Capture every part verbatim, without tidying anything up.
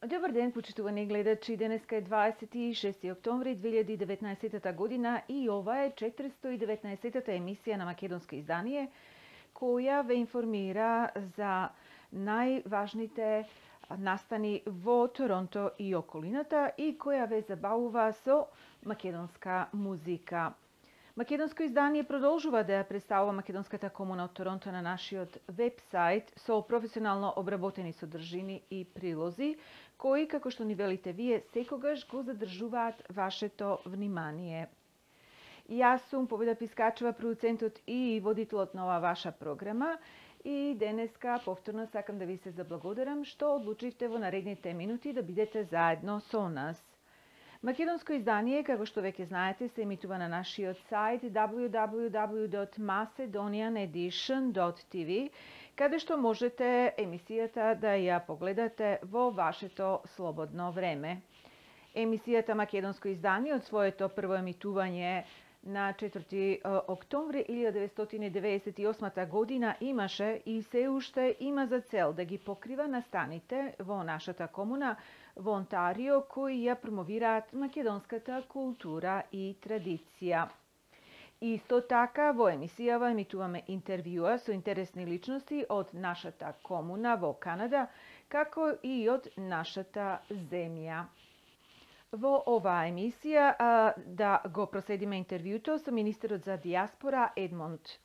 Добар ден, почитувани гледачи. Денеска е дваесет и шести октомври две илјади и деветнаесетта година и ова е четиристо и деветнаесеттата емисија на Македонско издание, која ве информира за најважните настани во Торонто и околината и која ве забавува со македонска музика. Македонско издание продолжува да ја представува македонската комуна од Торонто на нашиот веб-сайт со професионално обработени содржини и прилози, кои, како што ни велите вие, секогаш го задржуваат вашето внимание. Јас сум Победа Пискачева, продуцентот и водителот на оваа ваша програма, и денеска повторно сакам да ви се заблагодарам што одлучивте во наредните минути да бидете заедно со нас. Македонско издание, како што веќе знаете, се емитува на нашиот сајт дабљу дабљу дабљу точка macedonian edition точка ти ви, каде што можете емисијата да ја погледате во вашето слободно време. Емисијата Македонско издание од своето прво емитување на четврти октомври илјада деветстотини деветдесет и осма година имаше и се уште има за цел да ги покрива настаните во нашата комуна во Онтарио кои ја промовираат македонската култура и традиција. Исто така во емисијава емитуваме интервјуа со интересни личности од нашата комуна во Канада, како и од нашата земја. Во оваа емисија а, да го проследиме интервјуто со министерот за дијаспора Едмонд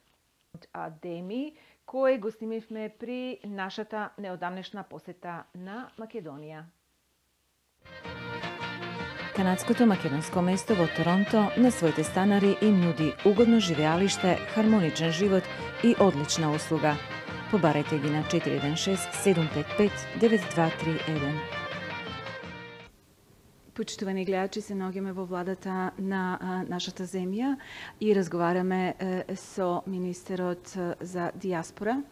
Адеми, кој го снимивме при нашата неодамнешна посета на Македонија. Канадското македонско место во Торонто на своите станари им нуди угодно живеалиште, хармоничен живот и одлична услуга. Побарете ги на четири еден шест седум пет пет девет два три еден. Почитувани гледачи, се наоѓаме во владата на а, нашата земја и разговараме е, со министерот за дијаспора,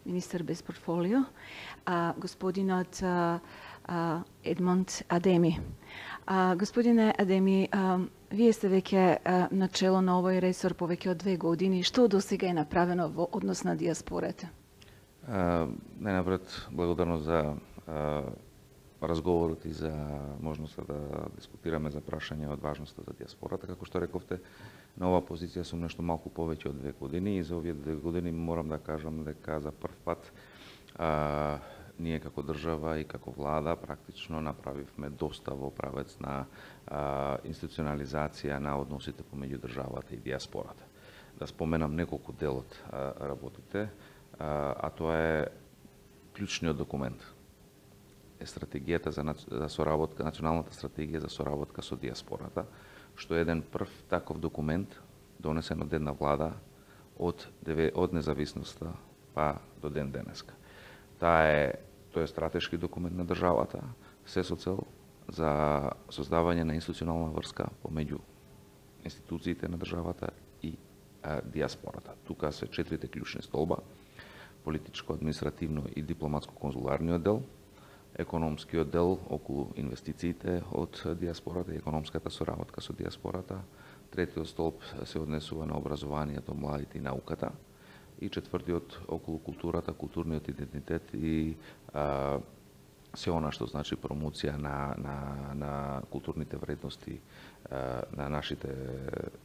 министер без портфолио, а, господинот а, а, Едмонд Адеми. А, господине Адеми, а, вие сте веќе а, начело на овој ресор повеќе од две години. Што до сега е направено во однос на дијаспората? Најнапред, благодарно за а, разговорот и за можноста да дискутираме за прашање од важноста за дијаспората. Како што рековте, на оваа позиција сум нешто малку повеќе од две години и за овие две години морам да кажам дека за прв пат а, ние како држава и како влада практично направивме доста во правец на а, институционализација на односите помеѓу државата и дијаспората. Да споменам неколку дел од а, работите, а, а тоа е клучниот документ е стратегијата за, за соработка, националната стратегија за соработка со дијаспората, што е еден прв таков документ донесен од една влада од, од независноста па до ден денеска. Таа е, тој е стратешки документ на државата, се со цел за создавање на институционална врска помеѓу институциите на државата и а, дијаспората. Тука се четирите клучни столба: политичко, административно и дипломатско-конзуларниот дел, економскиот дел околу инвестициите од дијаспората и економската соработка со дијаспората. Третиот столб се однесува на образованието, младите и науката. И четвртиот околу културата, културниот идентитет и а, се она што значи промоција на, на, на културните вредности а, на нашите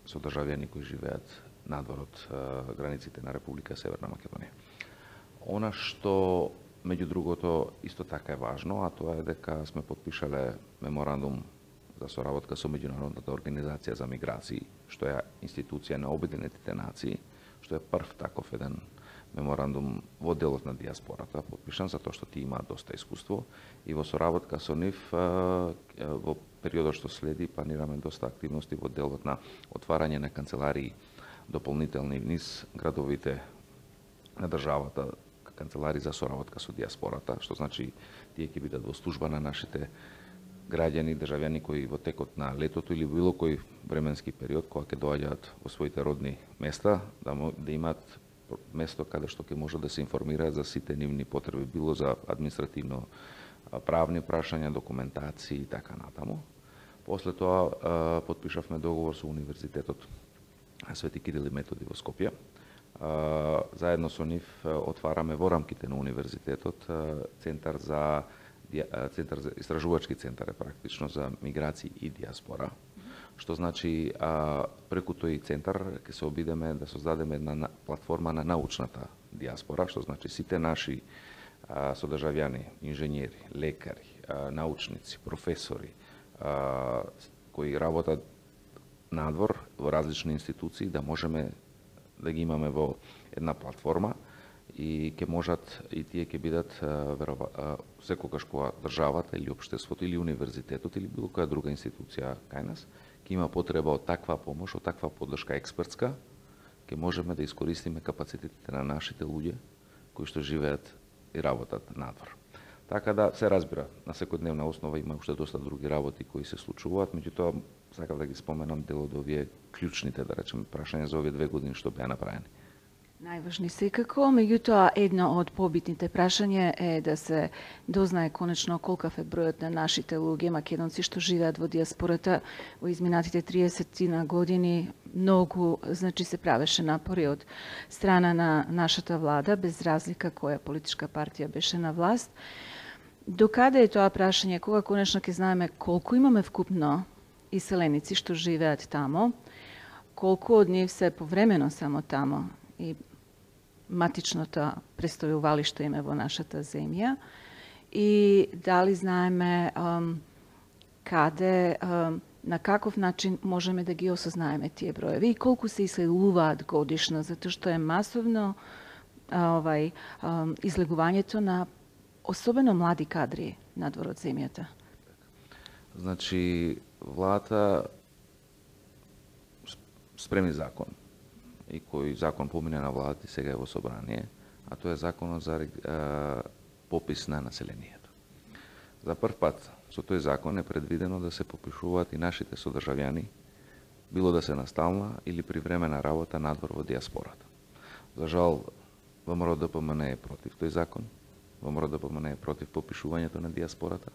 содржавјани кои живеат надвор од а, границите на Република Северна Македонија. Она што меѓу другото исто така е важно, а тоа е дека сме подпишале меморандум за соработка со Меѓународната организација за миграции, што е институција на Обединетите нации, што е прв таков еден меморандум во делот на дијаспората, подпишан затоа што ти има доста искуство и во соработка со нив во периодот што следи планираме доста активности во делот на отварање на канцеларии дополнителни низ градовите на државата, канцелари за соработка со дијаспората, што значи тие ќе бидат во служба на нашите граѓани, државјани кои во текот на летото или било кој временски период кога ќе доаѓаат во своите родни места, да, да имаат место каде што ќе можат да се информираат за сите нивни потреби, било за административно правни прашања, документации и така натаму. После тоа подпишавме договор со Универзитетот Свети Кирил и Методи во Скопје. Заедно со нив отвараме во рамките на универзитетот Центар за центар за истражувачки центар е практично за миграции и диаспора, што значи а, преку тој центар ќе се обидеме да создадеме една платформа на научната диаспора, што значи сите наши а, содржавјани, инженери, лекари, а, научници, професори, а, кои работат надвор во различни институции, да можеме да ги имаме во една платформа и ќе можат и тие ќе бидат верова, секогаш кога државата или општеството или универзитетот или било која друга институција кај нас ќе има потреба од таква помош, од таква поддршка експертска, ќе можеме да искористиме капацитетите на нашите луѓе кои што живеат и работат надвор. Така да се разбира, на секојдневна основа има уште доста други работи кои се случуваат, меѓутоа сакав да ги споменам дел од овие клучните, да речеме, прашања за овие две години што беа направени. Најважни секако, меѓутоа едно од побитните прашања е да се дознае конечно колкав е бројот на нашите луѓе македонци што живеат во диаспората во изминатите триесет години. Многу, значи, се правеше напори од страна на нашата влада, без разлика која политичка партија беше на власт. Докаде е тоа прашање, кога конечно ќе знаеме колку имаме вкупно иселеници што живеат тамо, колку од нив се повремено само тамо и матичното престојувалиште име во нашата земја, и дали знаеме um, каде, um, на каков начин можеме да ги осознаеме тие броеви и колку се иселуваат годишно, затоа што е масовно а, овај а, излегувањето на особено млади кадри надвор од земјата. Значи, владата спреми закон и кој закон помине на владата и сега е во собрание, а тоа е законот за а, попис на населението. За прв пат со тој закон е предвидено да се попишуваат и нашите содржавјани, било да се настална или привремена работа надвор во диаспората. За жал, ВМРО-ДПМН е против тој закон, ВМРО-ДПМН е против попишувањето на диаспората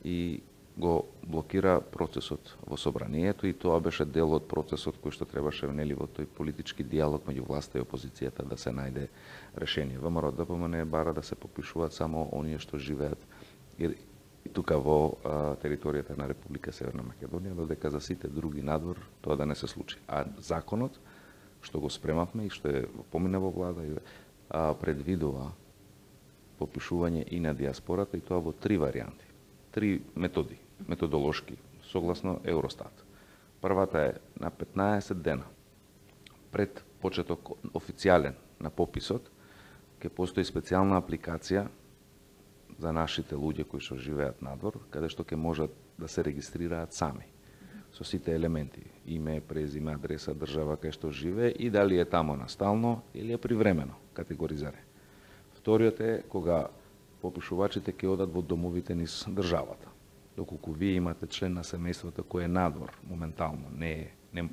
и го блокира процесот во собранието, и тоа беше дел од процесот кој што требаше нели во тој политички диалог меѓу власта и опозицијата да се најде решение. ВМРО-ДПМН бара да се попишуваат само оние што живеат и, и тука во а, територијата на Република Северна Македонија, додека за сите други надвор тоа да не се случи. А законот што го спремавме и што е помине во влада а, предвидува попишување и на диаспората, и тоа во три варијанти, три методи, методолошки, согласно Евростат. Првата е на петнаесет дена пред почеток официјален на пописот, ќе постои специјална апликација за нашите луѓе кои што живеат надвор, каде што ќе можат да се регистрираат сами со сите елементи: име, презиме, адреса, држава кај што живее и дали е тамо настално или е привремено категоризиране. Вториот е кога попишувачите ќе одат во домовите низ државата. Доколку вие имате член на семејството кој е надвор моментално, не е не,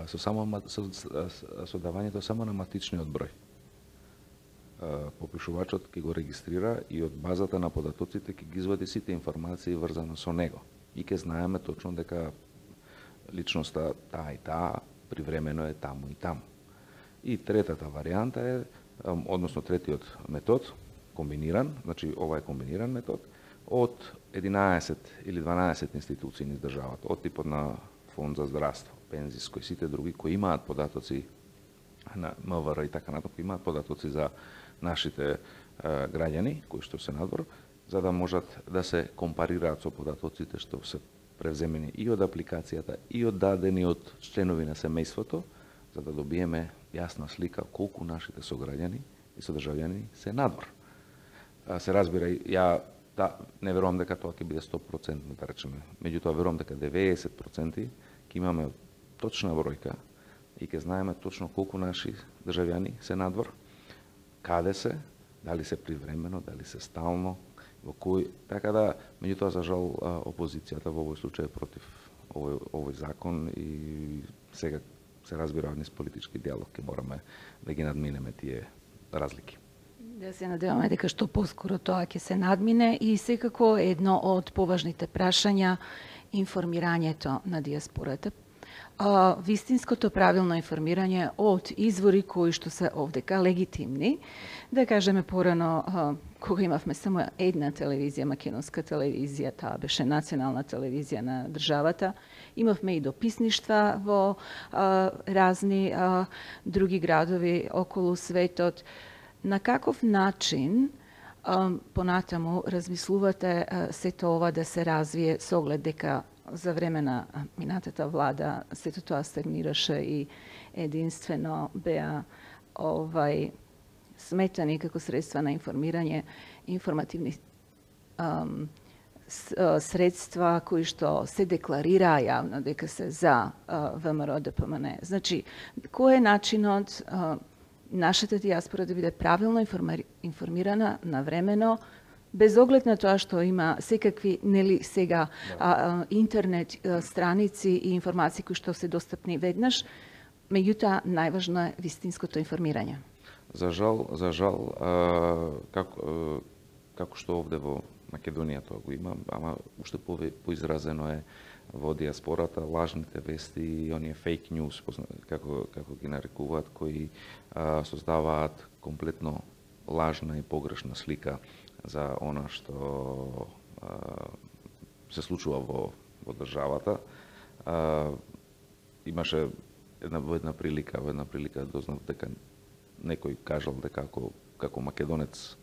со само со, со давањето само на матичниот број. Попишувачот ќе го регистрира и од базата на податоците ќе ги извади сите информации врзано со него. И ќе знаеме точно дека личноста таа и таа привремено е таму и таму. И третата варијанта е, односно третиот метод, комбиниран, значи ова е комбиниран метод, од единаесет или дванаесет институции низ државата, од типот на фонд за здравство, пензиско и сите други кои имаат податоци на МВР и така натаму, кои имаат податоци за нашите е, граѓани кои што се надвор, за да можат да се компарираат со податоците што се превземени и од апликацијата и од дадени од членови на семејството, за да добиеме јасна слика колку нашите сограѓани и содржавјани се надвор. Се разбира, ја да, не верувам дека тоа ќе биде сто проценти, да речеме. Меѓутоа верувам дека деветдесет проценти ќе имаме точна бројка и ќе знаеме точно колку наши државјани се надвор, каде се, дали се привремено, дали се стално, во кој, така да, меѓутоа за жал опозицијата во овој случај е против овој, овој закон и сега се разбира низ политички диалог ќе мораме да ги надминеме тие разлики. Да се надеваме дека што поскоро тоа ќе се надмине, и секако едно од поважните прашања информирањето на диаспората. а, вистинското правилно информирање од извори кои што се овдека легитимни. Да кажеме порано, а, кога имавме само една телевизија, македонска телевизија, таа беше национална телевизија на државата, имавме и дописништва во а, разни а, други градови околу светот. На каков начин а, понатаму размислувате а, сето ова да се развие со оглед дека за време на минатата влада сето тоа стагнираше и единствено беа овај сметани како средства на информирање, информативни ам, с, а, средства кои што се декларираа јавно дека се за а, ВМРО Д П М Н. Значи, кој е начинот а, нашата дијаспора да биде правилно информирана навремено, без оглед на тоа што има секакви, нели сега, да. а, а, интернет а, страници и информации кои што се достапни веднаш, меѓутоа најважно е вистинското информирање. За жал, за жал, а, како, а, како што овде во Македонија тоа го има, ама уште по, поизразено е во диаспората, лажните вести и оние фейк ньюс, како, како ги нарекуваат, кои а, создаваат комплетно лажна и погрешна слика за она што а, се случува во, во државата. А, имаше една, во една прилика, во една прилика дознав дека некој кажал дека како, како македонец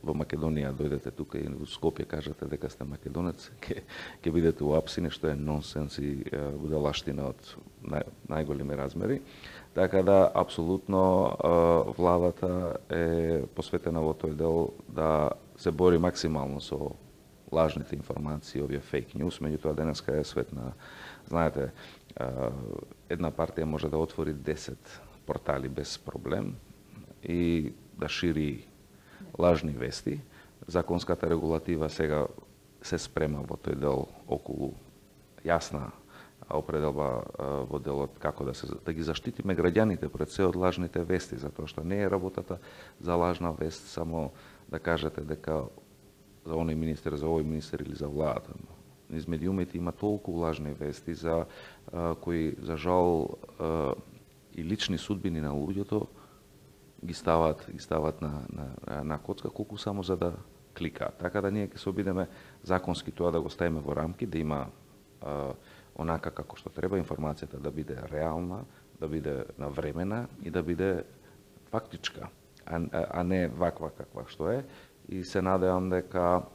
во Македонија дојдете тука и во Скопје кажете дека сте македонец, ќе ќе бидете уапсини, што е нонсенс и будалаштина од нај, најголеми размери. Така да, апсолутно, владата е посветена во тој дел да се бори максимално со лажните информации, овие фейк ньюс, меѓутоа денеска е свет на, знаете, една партија може да отвори десет портали без проблем и да шири лажни вести. Законската регулатива сега се спрема во тој дел околу јасна определба во делот како да се да ги заштитиме граѓаните пред се од лажните вести, затоа што не е работата за лажна вест само да кажете дека за оној министер, за овој министер или за владата. Низ медиумите има толку лажни вести за а, кои за жал а, и лични судбини на луѓето ги стават ги стават на на на коцка колку само за да кликаат. Така да ние ќе се обидеме законски тоа да го ставиме во рамки, да има а, онака како што треба информацијата да биде реална, да биде навремена и да биде фактичка, а, а не ваква каква што е. И се надевам дека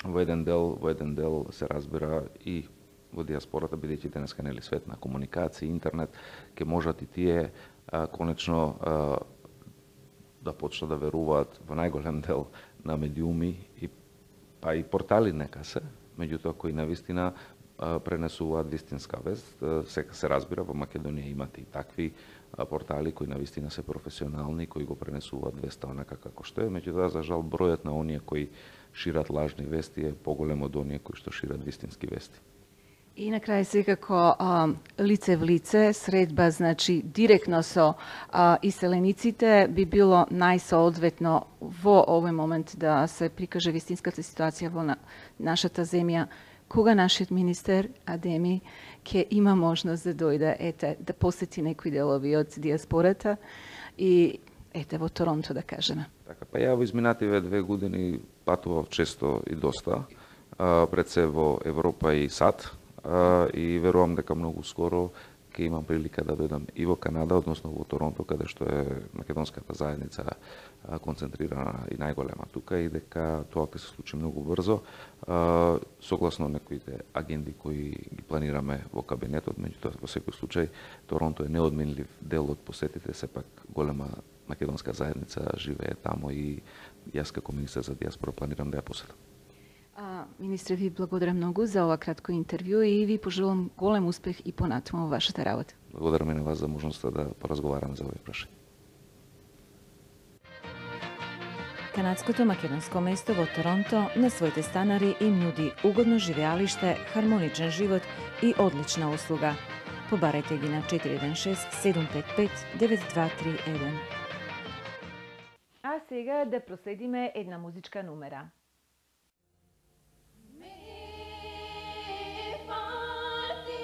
во еден дел, во еден дел се разбира и во диаспората, бидејќи денеска нели свет на комуникација, интернет, ќе можат и тие а, конечно а, да почнат да веруваат во најголем дел на медиуми и па и портали нека се, меѓутоа кои навистина пренесуваат вистинска вест. Сека се разбира, во Македонија имате и такви портали кои навистина се професионални, кои го пренесуваат веста онака како што е, меѓутоа за жал бројот на оние кои шират лажни вести е поголем од оние кои што шират вистински вести. И на крај секако а, лице в лице, средба, значи директно со а, иселениците би било најсоодветно во овој момент да се прикаже вистинската ситуација во на, нашата земја, кога нашиот министер Адеми ќе има можност да дојде, ете, да посети некои делови од диаспората и ете во Торонто да кажеме. Така, па ја во изминативе две години патував често и доста, а, пред се во Европа и САД, а, и верувам дека многу скоро ќе имам прилика да дојдам и во Канада, односно во Торонто, каде што е македонската заедница концентрирана и најголема тука, и дека тоа ќе се случи многу брзо, согласно некоите агенди кои ги планираме во кабинетот. Меѓутоа, во секој случај, Торонто е неодменлив дел од посетите, сепак голема македонска заедница живее тамо и јас како министер за диаспора планирам да ја посетам. А, министре, ви благодарам многу за ова кратко интервју и ви пожелам голем успех и понатаму во вашата работа. Благодарам и на вас за можноста да поразговараме за овој прашање. Канадското македонско место во Торонто на своите станари им нуди угодно живеалиште, хармоничен живот и одлична услуга. Побарете ги на четири еден шест седум пет пет девет два три еден. А сега да проследиме една музичка номера. Me parti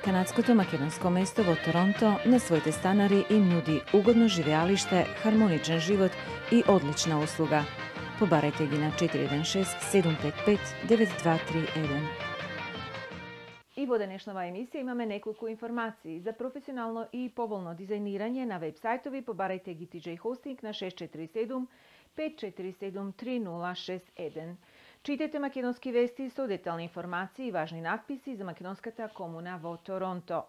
канадското македонско место во Торонто на своите станари им нуди угодно живеалиште, хармоничен живот и одлична услуга. Побарете ги на четири еден шест седум пет пет девет два три еден. И во денешнава емисија имаме неколку информации. За професионално и поволно дизајнирање на веб-сајтови побарајте ги Ти Џеј Hosting на шест четири седум пет четири седум три нула шест еден. Читете македонски вести со детални информации и важни надписи за македонската комуна во Торонто.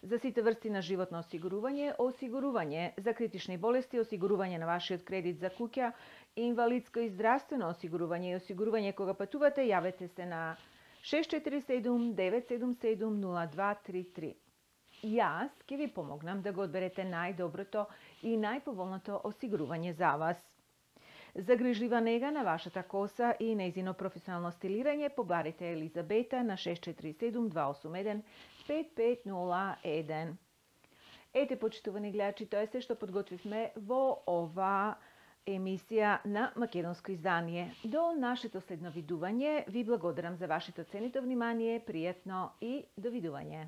За сите врсти на животно осигурување, осигурување за критични болести, осигурување на вашиот кредит за куќа, инвалидско и здравствено осигурување и осигурување кога патувате, јавете се на шест четири седум девет седум седум нула два три три. Јас ќе ви помогнам да го одберете најдоброто и најповолното осигурување за вас. За грижлива нега на вашата коса и нејзино професионално стилирање побарите Елизабета на шест четири седум два осум еден пет пет нула еден. Ете, почитувани гледачи, тоа е се што подготвивме во ова емисија на македонско издание. До нашето следно видување ви благодарам за вашето ценито внимание, пријатно и довидување.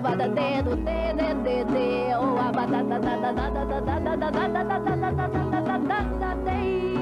Abada dedo de de de de oh abada da da da da da da da da da da da da da da da da da